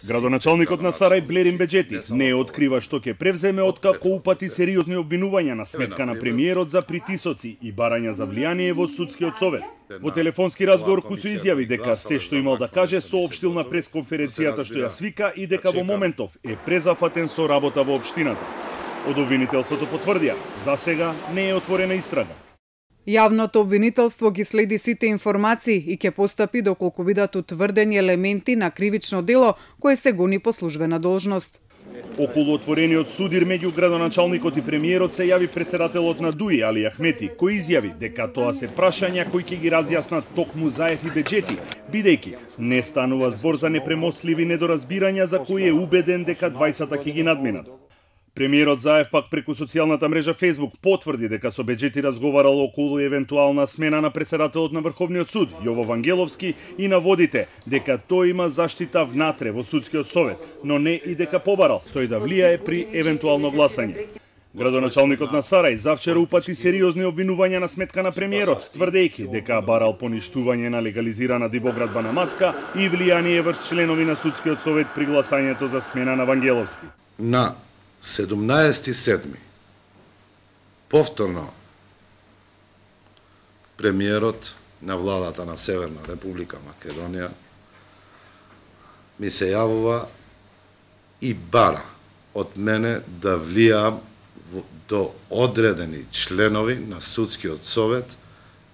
Градоначалникот на Сарај Блерин Беџети не открива што ќе превземе откако упати сериозни обвинувања на сметка на премиерот за притисоци и барања за влијание во судскиот совет. Во телефонски разговор Кусо изјави дека се што имал да каже соопштил на пресконференцијата што ја свика и дека во моментов е презафатен со работа во општината. Од обвинителството потврдија, за сега не е отворена истрага. Јавното обвинителство ги следи сите информации и ќе постапи доколку бидат утврдени елементи на кривично дело кое се гони по службена должност. Околу отворениот судир меѓу градоначалникот и премиерот се јави претседателот на ДУИ Али Ахмети, кој изјави дека тоа се прашања кои ќе ги разјаснат токму Заев и Беџети, бидејќи не станува збор за непремостливи недоразбирања за кои е убеден дека двајцата ќе ги надминат. Премиерот Заев пак преку социјалната мрежа Facebook потврди дека со Беџети разговарал околу евентуална смена на претседателот на Врховниот суд Јово Вангеловски и наводите дека тој има заштита внатре во судскиот совет, но не и дека побарал тој да влијае при евентуално гласање. Градоначалникот на Сарај завчера упати сериозни обвинувања на сметка на премиерот, тврдејќи дека барал поништување на легализирана дивоградба на матка и влијание врз членови на судскиот совет при гласањето за смена на Вангеловски. На 17.7. повторно премиерот на владата на Северна Република Македонија ми се јавува и бара од мене да влијам до одредени членови на судскиот совет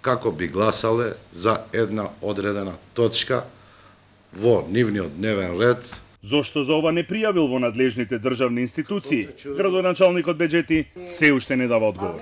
како би гласале за една одредена точка во нивниот дневен ред. Зошто за ова не пријавил во надлежните државни институции, градоначалникот Беџети се уште не дава одговор.